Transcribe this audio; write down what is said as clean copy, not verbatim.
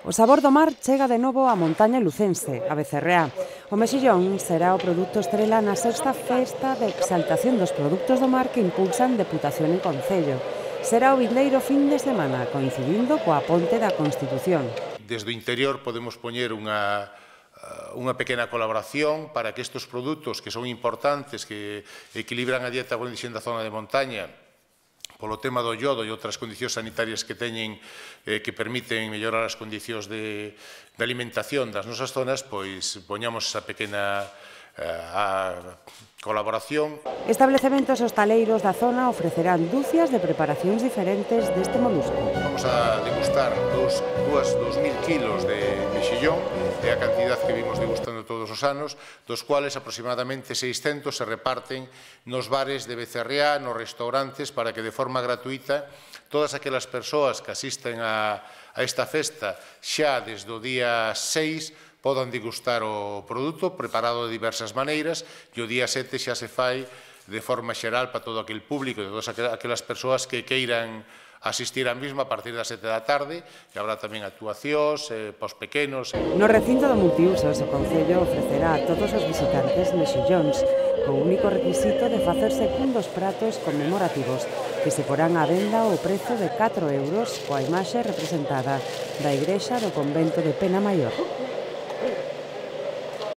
O sabor do mar chega de novo á montaña lucense, a Becerreá. O mexillón será o produto estrela na sexta festa de exaltación dos produtos do mar que impulsan Deputación e Concello. Será o vindeiro fin de semana, coincidindo coa ponte da Constitución. Desde o interior podemos poñer unha pequena colaboración para que estes produtos que son importantes, que equilibran a dieta con da zona de montaña, polo tema do iodo e outras condicións sanitarias que teñen que permiten mellorar as condicións de alimentación das nosas zonas, pois poñamos esa pequena colaboración. Establecementos hostaleiros da zona ofrecerán dúcias de preparacións diferentes deste molusco. Vamos a degustar 2.000 kilos de mexillón, é a cantidad que vimos degustando todos os anos, dos cuales aproximadamente 600 se reparten nos bares de Becerreá, nos restaurantes, para que de forma gratuita todas aquelas persoas que asisten a esta festa xa desde o día 6 podan degustar o produto preparado de diversas maneiras e o día 7 xa se fai de forma xeral para todo aquel público e todas aquelas persoas que queiran asistir á mesma a partir das 7 da tarde, que habrá tamén actuacións para os pequenos. No recinto do multiusos, o Concello ofrecerá a todos os visitantes mexillóns, co único requisito de facerse cun dos pratos conmemorativos, que se porán á venda ao prezo de 4 euros coa imaxe representada da igrexa do convento de Pena Maior.